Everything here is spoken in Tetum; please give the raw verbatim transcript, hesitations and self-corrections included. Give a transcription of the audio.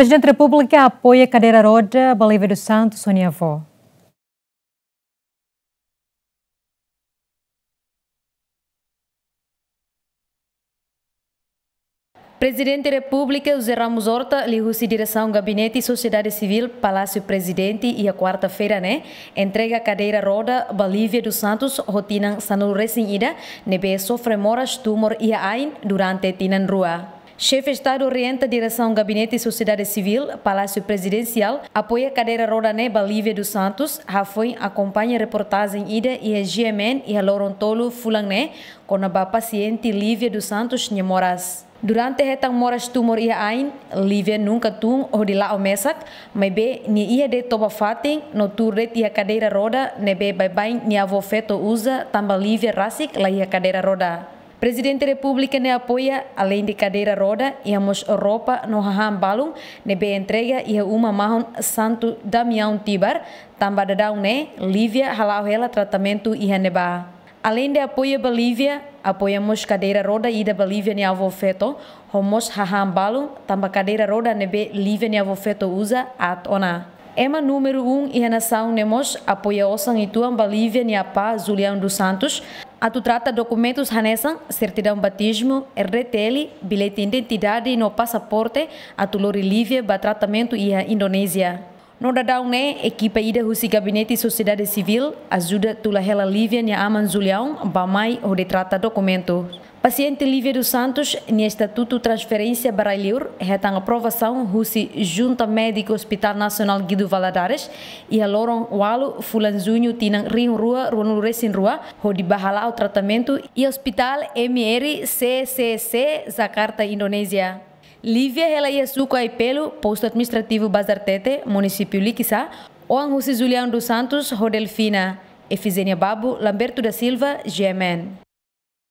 Prezidente Repúblika apoia kadeira roda ba Lívia dos Santos ho nia avó. Prezidente Repúblika José Ramos Horta, liuhusi Diresaun Gabinete Sosiedade Sivíl, Palásiu Prezidente, iha kuarta-feira ne'e, entrega kadeira roda ba Lívia dos Santos ho tinan sanulu-resin-ida, ne'ebé sofre moras tumor iha ain durante tinan rua. Xefe Estadu orienta Diresaun Gabinete Sosiedade Sivíl, Palásiu Prezidensiál, apoia kadeira roda ne'e ba Lívia dos Santos, hafoin akompaña reportajen ida iha G M N iha loron tolu fulan ne'e, kona-ba pasiente Lívia dos Santos nia moras. Durante hetan moras tumor iha ain, Lívia nunka tun hodi la'o mesak, maibé nia iha de'it toba-fatin no tuur de'it iha kadeira roda ne'ebé baibain nia avó-feto uza tanba Lívia rasik la iha kadeira roda. Prezidente Repúblika ne'e apoia, aleinde kadeira roda, iha mós roupa no hahán balun ne'ebé entrega iha uma mahon Santo Damião Tibar, tanba daudaun ne'e Lívia hala'o hela tratamentu iha ne'ebá. Aleinde apoia ba Lívia, apoia mós kadeira roda ida ba Lívia nia avó-feto, ho mós hahán balun, tanba kadeira roda ne'ebé Lívia nia avó-feto uza aat ona. Ema númeru um iha nasaun ne'e mós apoia osan uitoan ba Lívia nia apá Julião dos Santos, atu trata dokumentus hanesan sertidaun batizmu, R D T L, billete identidade no pasaporte, atu lori Lívia ba tratamentu iha Indonézia. No daudaun ne'e, ekipa ida husi Gabinete Sosiedade Sivíl ajuda tula hela Lívia nia aman Julião ba mai hodi trata dokumentu. Pasiente Lívia dos Santos nia estatutu transferénsia ba rai-liur hetan aprovasaun husi Junta Médiku Hospital Nasionál Guido Valadares iha loron ualu fulan Juñu tinan rihun rua ruanulu-resin-rua, hodi ba hala'o tratamentu iha Hospital M R C C C, Jakarta, Indonézia. Lívia hela iha suku Aipelo, postu administrativu Bazartete, munisípiu Likisá, oan husi Julião dos Santos ho Delfina. Efigénia Babo, Lamberto da Silva, G M N.